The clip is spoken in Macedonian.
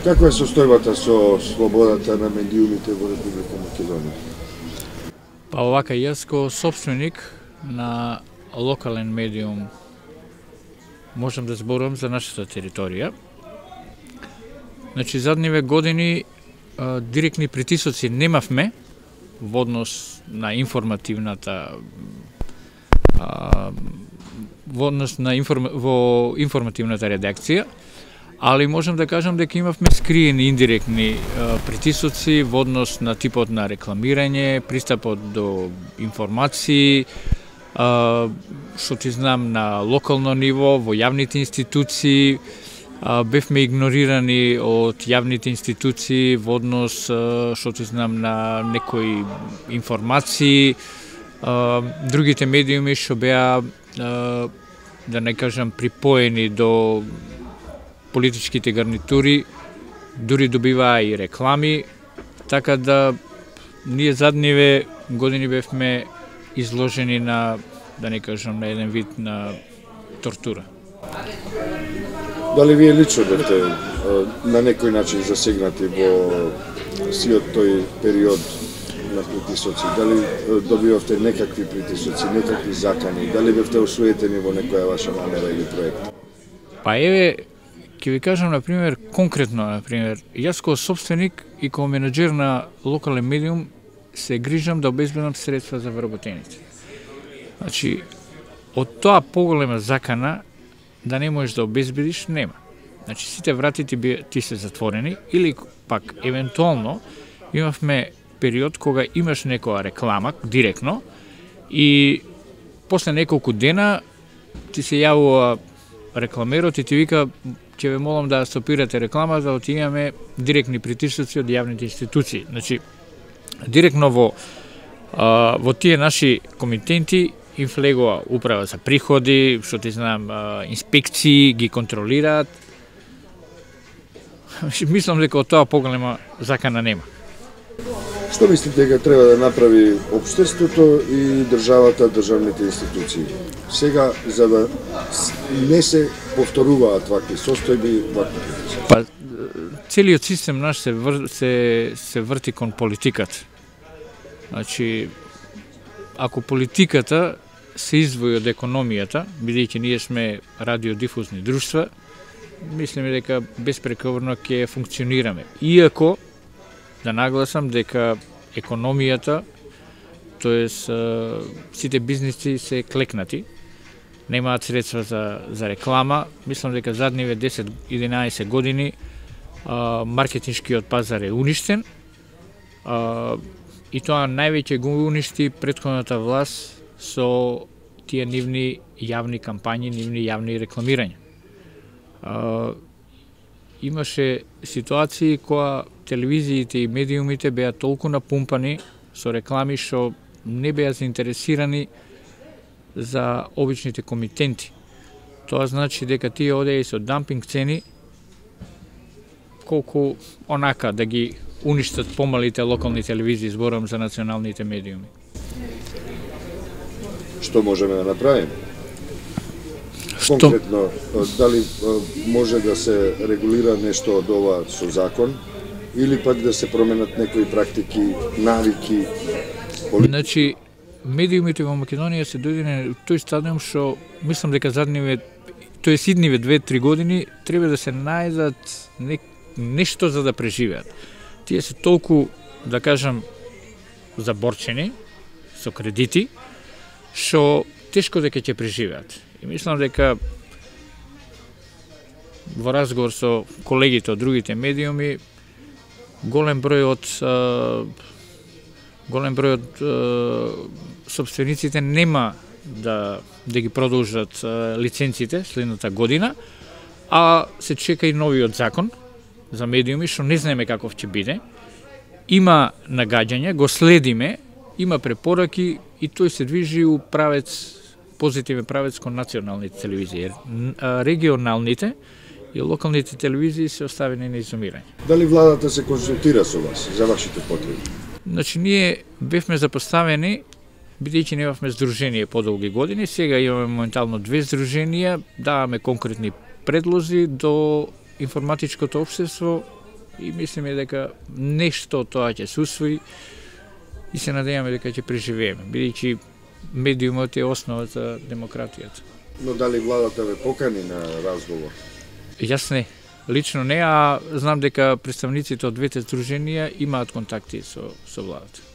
Каква е состојбата со слободата на медиумите во Република Македонија? Па овака, јас ко собственик на локален медиум можам да зборувам за нашата територија. Значи, задниве години директни притисоци немавме во однос на информативната во информативната редакција, али можам да кажам дека имавме скриени индиректни притисоци во однос на типот на рекламирање, пристапот до информации, што ти знам на локално ниво, во јавните институции, бевме игнорирани од јавните институции во однос, што ти знам, на некои информации, другите медиуми што беа, да не кажам, припоени до политичките гарнитури, дури добиваа и реклами, така да ние задниве години бевме изложени на, да не кажам, на еден вид на тортура. Дали вие лично бевте на некој начин засегнати во сиот тој период на притисоци? Дали добивавте некакви притисоци, некакви закани? Дали бевте осуетени во некоја ваша намера или проект? Па еве, ќе ви кажам, например, конкретно, например, јас како собственик и како менаџер на локален медиум се грижам да обезбедам средства за вработените. Значи, од тоа поголема закана да не можеш да обезбедиш, нема. Значи, сите врати ти се затворени, или пак, евентуално, имавме период кога имаш некоја реклама, директно, и после неколку дена ти се јавува рекламерот и ти вика, ќе ве молам да стопирате реклама, за да имаме директни притисоци од јавните институции. Значи, директно во тие наши комитенти им влегува управа за приходи, што ти знам, инспекции ги контролираат. Мислам дека од тоа поголема закана нема. Што мислите дека треба да направи општеството и државата, државните институции? Сега, за да не се повторуваат вакви состојби, вакви притисоци? Па, целиот систем наш се врти кон политиката. Значи, ако политиката се издвои од економијата, бидејќи ние сме радиодифузни друштва, мислиме дека безпрековрно ќе функционираме. Иако, да нагласам дека економијата, тоест сите бизниси се клекнати, немаат средства за реклама. Мислам дека задниве 10-11 години маркетиншкиот пазар е уништен, и тоа највеќе го уништи претходната власт со тие нивни јавни кампањи, нивни јавни рекламирања. Имаше ситуации која телевизиите и медиумите беа толку напумпани со реклами што не беа заинтересирани за обичните комитенти. Тоа значи дека тие одеа и со дампинг цени, колку онака да ги уништат помалите локални телевизии, зборам за националните медиуми. Што можеме да направиме? Конкретно, дали може да се регулира нешто од ова со закон, или пак да се променат некои практики, навики? Значи, медиумите во Македонија се дојдени на тој стадиум што мислам дека задниве, тоест идниве 2-3 години, треба да се најдат нешто за да преживеат. Тие се толку, да кажам, заборчени со кредити, што тешко дека ќе преживеат. И мислам дека во разговор со колегите од другите медиуми, голем број од собствениците нема да ги продолжат лиценците следната година, а се чека и новиот закон за медиуми, што не знаеме каков ќе биде. Има нагаѓања, го следиме, има препораки и тој се движи у правец, позитивен правец кон националните телевизии. Регионалните и локалните телевизии се оставени на изумирање. Дали владата се консултира со вас за вашите потреби? Значи, ние бевме запоставени, бидејќи немавме здружение подолги години, сега имаме моментално 2 здруженија, даваме конкретни предлози до информатичкото општество и мислиме дека нешто тоа ќе се усвои и се надеваме дека ќе преживееме, бидејќи медиумот е основа за демократијата. Но дали владата ве покани на разговор? Јас не, лично не, а знам дека представниците од двете здруженија имаат контакти со владата.